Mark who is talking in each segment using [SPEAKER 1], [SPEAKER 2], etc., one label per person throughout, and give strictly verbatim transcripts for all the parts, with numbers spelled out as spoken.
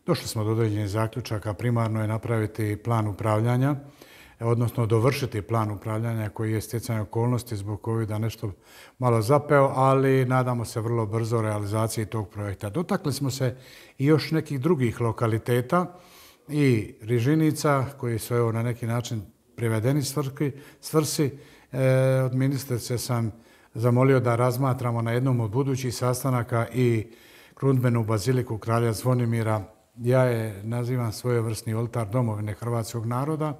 [SPEAKER 1] Došli smo do određenih zaključaka. Primarno je napraviti plan upravljanja, odnosno dovršiti plan upravljanja koji je stjecanje okolnosti zbog covida nešto malo zapeo, ali nadamo se vrlo brzo realizaciji tog projekta. Dotakli smo se i još nekih drugih lokaliteta i Rižinica koji su evo na neki način privedeni svrsi. E, od ministrice sam zamolio da razmatramo na jednom od budućih sastanaka i krunidbenu baziliku kralja Zvonimira. Ja je nazivam svojevrsni oltar domovine hrvatskog naroda.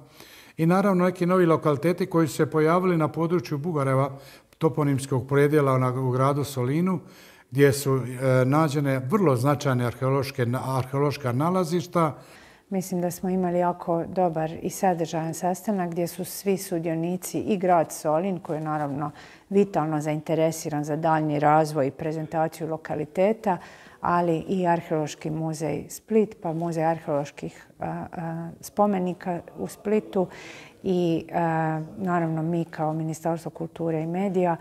[SPEAKER 1] I naravno neki novi lokaliteti koji su se pojavili na području Bugareva, toponimskog predjela u gradu Solinu, gdje su e, nađene vrlo značajne arheološka nalazišta.
[SPEAKER 2] Mislim da smo imali jako dobar i sadržajan sastanak gdje su svi sudionici i grad Solin, koji je naravno vitalno zainteresiran za daljnji razvoj i prezentaciju lokaliteta, ali i Arheološki muzej Split, pa Muzej arheoloških a, a, spomenika u Splitu i a, naravno mi kao Ministarstvo kulture i medija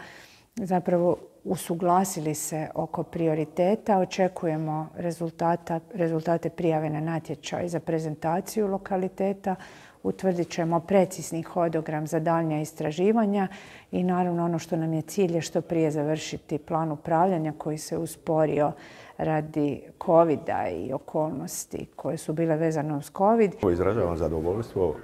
[SPEAKER 2] zapravo usuglasili se oko prioriteta. Očekujemo rezultata, rezultate prijave na natječaj za prezentaciju lokaliteta. Utvrdit ćemo precizni hodogram za daljnja istraživanja i naravno ono što nam je cilj je što prije završiti plan upravljanja koji se usporio radi covida i okolnosti koje su bile vezane uz covid.
[SPEAKER 3] Izražavam zadovoljstvo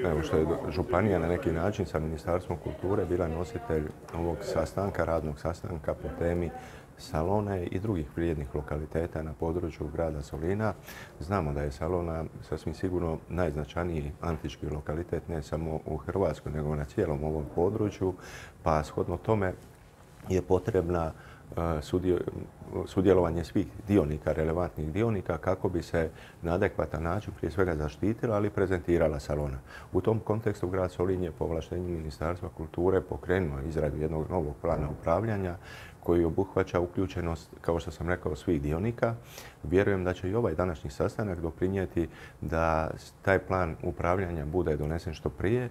[SPEAKER 3] evo što je županija na neki način sa Ministarstvom kulture bila nositelj ovog sastanka, radnog sastanka po temi Salone i drugih vrijednih lokaliteta na području grada Solina. Znamo da je Salona sasvim sigurno najznačajniji antički lokalitet ne samo u Hrvatskoj nego na cijelom ovom području, pa shodno tome je potrebna sudjelovanje svih dionika, relevantnih dionika, kako bi se na adekvatan način prije svega zaštitila, ali i prezentirala Salona. U tom kontekstu grad Solin je po ovlaštenju Ministarstva kulture pokrenuo izradu jednog novog plana upravljanja koji obuhvaća uključenost, kao što sam rekao, svih dionika. Vjerujem da će i ovaj današnji sastanak doprinijeti da taj plan upravljanja bude donesen što prije